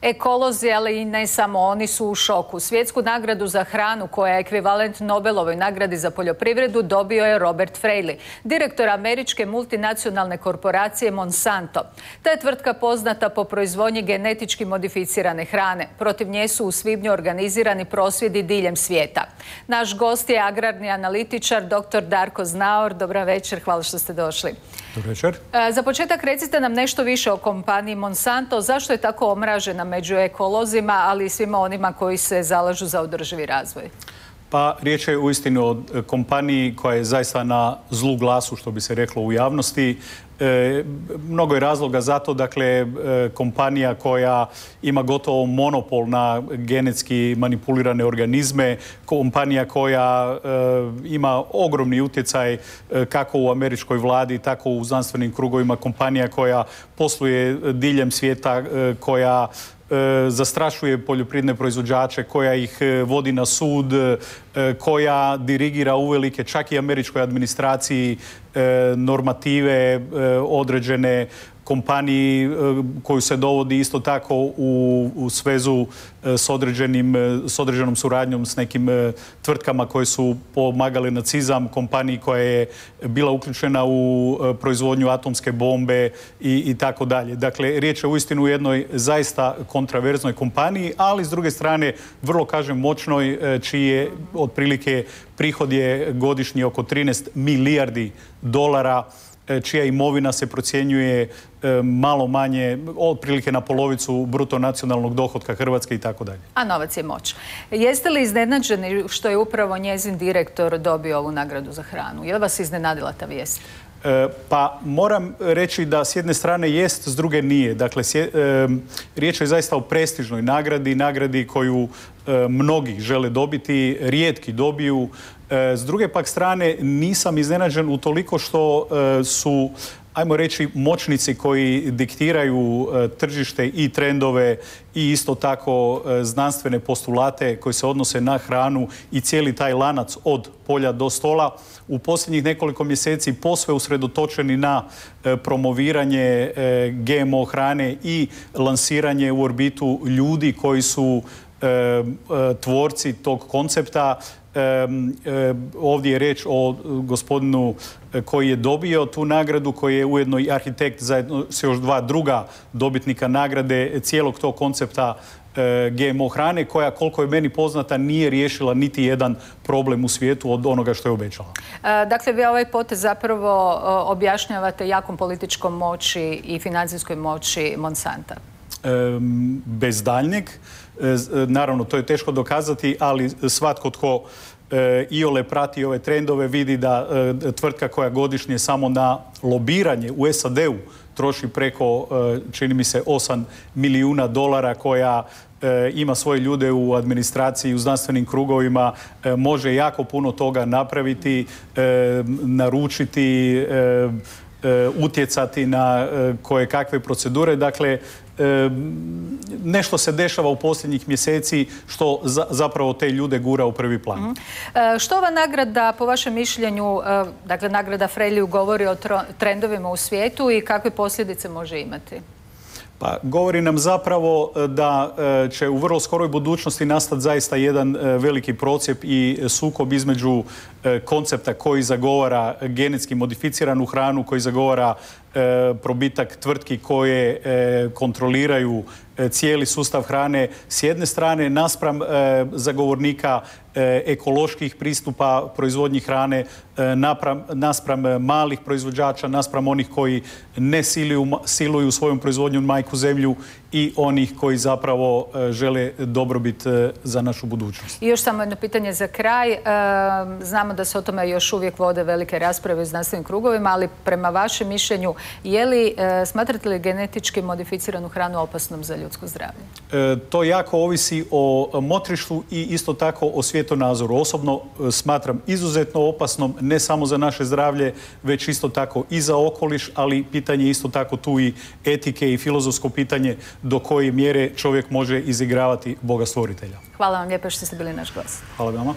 Ekolozi, ali i ne samo oni, su u šoku. Svjetsku nagradu za hranu, koja je ekvivalent Nobelovoj nagradi za poljoprivredu, dobio je Robert Fraley, direktor američke multinacionalne korporacije Monsanto. Ta je tvrtka poznata po proizvodnji genetički modificirane hrane. Protiv nje su u svibnju organizirani prosvjedi diljem svijeta. Naš gost je agrarni analitičar dr. Darko Znaor. Dobra večer, hvala što ste došli. Dobar večer. Za početak recite nam nešto više o kompaniji Monsanto. Zašto je tako omražena među ekolozima, ali i svima onima koji se zalažu za održivi razvoj? Pa riječ je uistinu o kompaniji koja je zaista na zlu glasu, što bi se reklo u javnosti. Mnogo je razloga za to, dakle, kompanija koja ima gotovo monopol na genetski manipulirane organizme, kompanija koja ima ogromni utjecaj kako u američkoj vladi, tako u znanstvenim krugovima, kompanija koja posluje diljem svijeta, koja zastrašuje poljoprivredne proizvođače, koja ih vodi na sud, koja dirigira uvelike čak i američkoj administraciji normative određene, kompaniji koju se dovodi isto tako u svezu s određenom suradnjom s nekim tvrtkama koje su pomagale nacizam, kompaniji koja je bila uključena u proizvodnju atomske bombe i tako dalje. Dakle, riječ je uistinu o jednoj zaista kontraverznoj kompaniji, ali s druge strane vrlo, kažem, moćnoj, čiji je otprilike prihod je godišnji oko 13 milijardi dolara, čija imovina se procjenjuje malo manje, otprilike na polovicu bruto nacionalnog dohotka Hrvatske i tako dalje. A novac je moć. Jeste li iznenađeni što je upravo njezin direktor dobio ovu nagradu za hranu? Je li vas iznenadila ta vijest? Pa moram reći da s jedne strane jest, s druge nije. Dakle, riječ je zaista o prestižnoj nagradi koju mnogi žele dobiti, rijetki dobiju. S druge pak strane nisam iznenađen utoliko što su, ajmo reći, moćnici koji diktiraju tržište i trendove i isto tako znanstvene postulate koji se odnose na hranu i cijeli taj lanac od polja do stola u posljednjih nekoliko mjeseci posve usredotočeni na promoviranje GMO hrane i lansiranje u orbitu ljudi koji su tvorci tog koncepta. Ovdje je riječ o gospodinu koji je dobio tu nagradu, koji je ujedno i arhitekt zajedno s još dva druga dobitnika nagrade cijelog tog koncepta GMO hrane, koja, koliko je meni poznata, nije riješila niti jedan problem u svijetu od onoga što je obećala. Dakle, vi ovaj potez zapravo objašnjavate jakom političkom moći i financijskoj moći Monsanta? Bez daljnjeg. Naravno, to je teško dokazati, ali svatko tko iole prati ove trendove vidi da tvrtka koja godišnje samo na lobiranje u SAD-u troši preko, čini mi se, 8 milijuna dolara, koja ima svoje ljude u administraciji, u znanstvenim krugovima, može jako puno toga napraviti, naručiti, utjecati na koje kakve procedure. Dakle, nešto se dešava u posljednjih mjeseci što zapravo te ljude gura u prvi plan. Što ova nagrada, po vašem mišljenju, dakle nagrada Fraley, govori o trendovima u svijetu i kakve posljedice može imati? Pa govori nam zapravo da će u vrlo skoroj budućnosti nastati zaista jedan veliki procjep i sukob između koncepta koji zagovara genetski modificiranu hranu, koji zagovara probitak tvrtki koje kontroliraju cijeli sustav hrane s jedne strane, naspram zagovornika ekoloških pristupa proizvodnji hrane, naspram malih proizvođača, naspram onih koji ne siluju svojom proizvodnjom majku zemlju i onih koji zapravo žele dobrobit za našu budućnost. I još samo jedno pitanje za kraj. Znamo da se o tome još uvijek vode velike rasprave u znanstvenim krugovima, ali prema vašem mišljenju, smatrate li genetički modificiranu hranu opasnom za ljudsko zdravlje? To jako ovisi o motrištu i isto tako o svjetonazoru. Osobno smatram izuzetno opasnom, ne samo za naše zdravlje, već isto tako i za okoliš, ali pitanje isto tako tu i etike i filozofsko pitanje do koje mjere čovjek može izigravati Boga stvoritelja. Hvala vam lijepo što ste bili naš gost. Hvala vama.